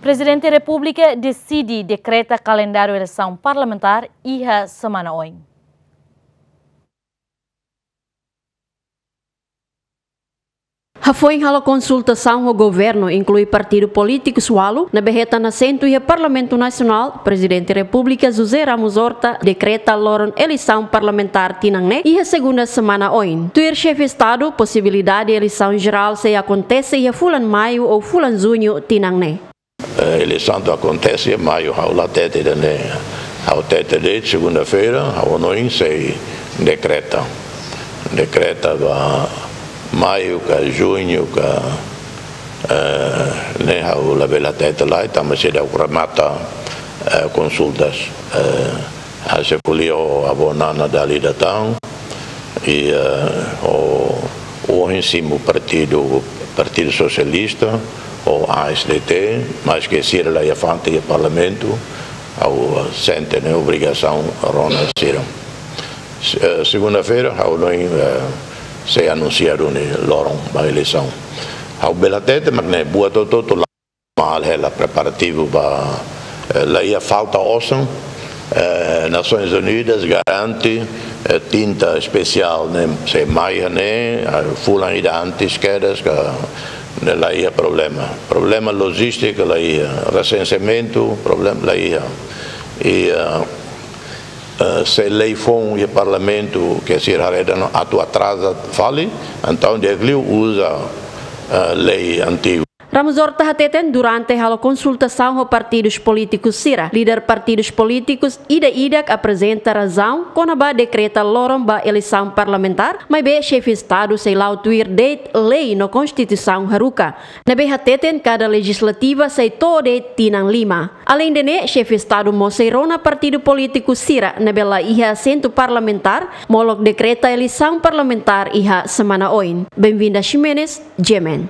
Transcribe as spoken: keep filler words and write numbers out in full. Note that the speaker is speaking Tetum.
Prezidente Repúblika deside dekreta kalendáriu eleisaun parlamentár iha semana oin. Hafoin halo konsultasaun ho governu, inklui partidu polítikus ualu ne'ebé hetan asentu iha Parlamentu Nasionál, Prezidente Repúblika José Ramos Horta dekreta loron eleisaun parlamentár tinan ne'e iha segunda semana oin. Tuir Xefe Estadu, posibilidade eleisaun jerál sei akontese iha fulan Maiu ou fulan Juñu tinan ne'e. Eh, eleisaun atu akontese iha Maiu, ha'u la hatete ida-ne'e. Ha'u hatete de'it segunda-feira, ha'u hanoin sei dekreta. Dekreta ba Maiu ka Juñu ka, eh, ne'e ha'u labele hatete lai, tanba seidauk remata, eh, konsultas, eh, hanesan ko'alia ho avó Nana dala ida tan, i, eh, ho, ohin simu partidu, Partidu Sosialista, ho A S D T, maske sira la iha fatin iha Parlamentu, ha'u, eh, sente ne'e obrigasaun rona sira. Se-, eh, segunda-feira, ha'u hanoin, eh, sei anunsia duni loron ba eleisaun. Ha'u bele hatete mak ne'e buat hotu-hotu la mal hela preparativu ba, eh, la iha falta osan, eh, Nasoins Unidas garante, eh, tinta espesiál ne'e sei mai iha ne'e, ah, fulan ida antes kedas ka ne'e la iha problema. Problema lojístika la iha, resenseamentu, problema la iha. I, eh, eh, se lei foun iha Parlamentu ke sira haree dehan atu atraza fali, entaun di'ak liu uza, eh, lei antigu. Ramos Horta hateten durante halo konsultasaun ho partidus polítikus sira, líder partidus polítikus ida-idak aprezenta razaun kona-ba dekreta loron ba eleisaun parlamentár, maibé Xefe Estadu sei la'o tuir de'it lei no Konstituisaun haruka, ne'ebé hateten kada lejizlativa sei to'o de'it tinan lima. Aleinde ne'e, Xefe Estadu mós sei rona partidu polítiku sira ne'ebé la iha asentu parlamentár, molok dekreta eleisaun parlamentár iha semana oin. Benvinda Ximenes, G M N.